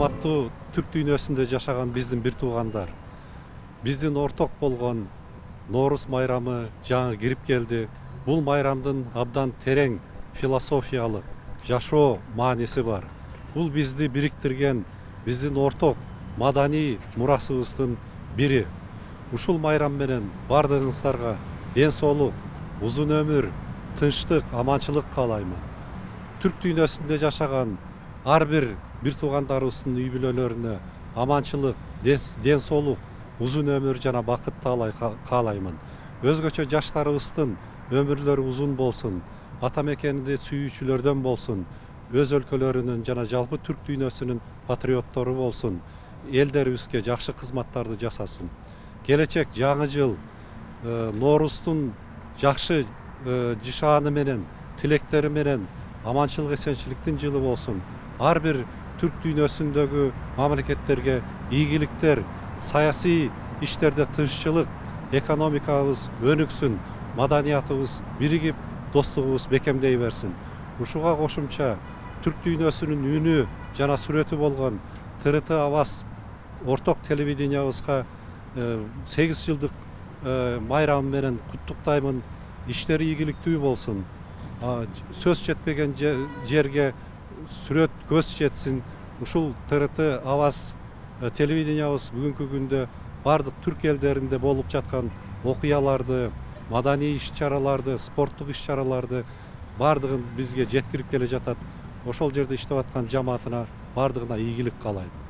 урматтуу түрк дүйнөсүндө жашаган биздин бир туугандар, биздин орток болгон Нооруз майрамы жаңы кирип келди. Бул майрамдын абдан терең философиялык, жашоо мааниси бар. Бул бизди бириктирген, биздин орток маданий мурасыбыздын бири. Ушул майрам менен бардыгыңыздарга ден соолук, узун өмүр, тынчтык, аманчылык каалаймын. Түрк дүйнөсүндө жашаган ар бир туугандарыбыздын үй бүлөлөрүнө аманчылык, ден соолук, узун өмүр жана бакыт каалаймын. Өзгөчө жаштарыбыздын өмүрлөрү узун болсун, ата мекенди сүйүүчүлөрдөн болсун, өз өлкөлөрүнүн жана жалпы түрк дүйнөсүнүн патриоттору болсун, элдерибизге жакшы кызматтарды жасасын. Келечек жаңы жыл Нооруздун жакшы жышааны менен, тилектери менен аманчылык, эсенчиликтин жылы болсун. Ар бир түрк дүйнөсүндөгү мамлекеттерге ийгиликтер, саясий иштерде тынччылык, экономикабыз өнүксүн, маданиятыбыз биригип, достугубуз бекемдей берсин. Ушуга кошумча түрк дүйнөсүнүн үнү жана сүрөтү болгон ТРТ Аваз орток телевидениябызга 8 жылдык майрамы менен куттуктаймын. Иштери ийгиликтүү болсун. Сөз жетпеген жерге сүрөт көз жетсин. Ушул ТРТ Аваз телевидениябыз бүгүнкү күндө бардык түрк элдеринде болуп жаткан окуяларды, маданий иш-чараларды, спорттук иш-чараларды бардыгын бизге жеткирип келе жатат. Ошол жерде иштеп аткан жамаатына бардыгына ийгилик каалайм.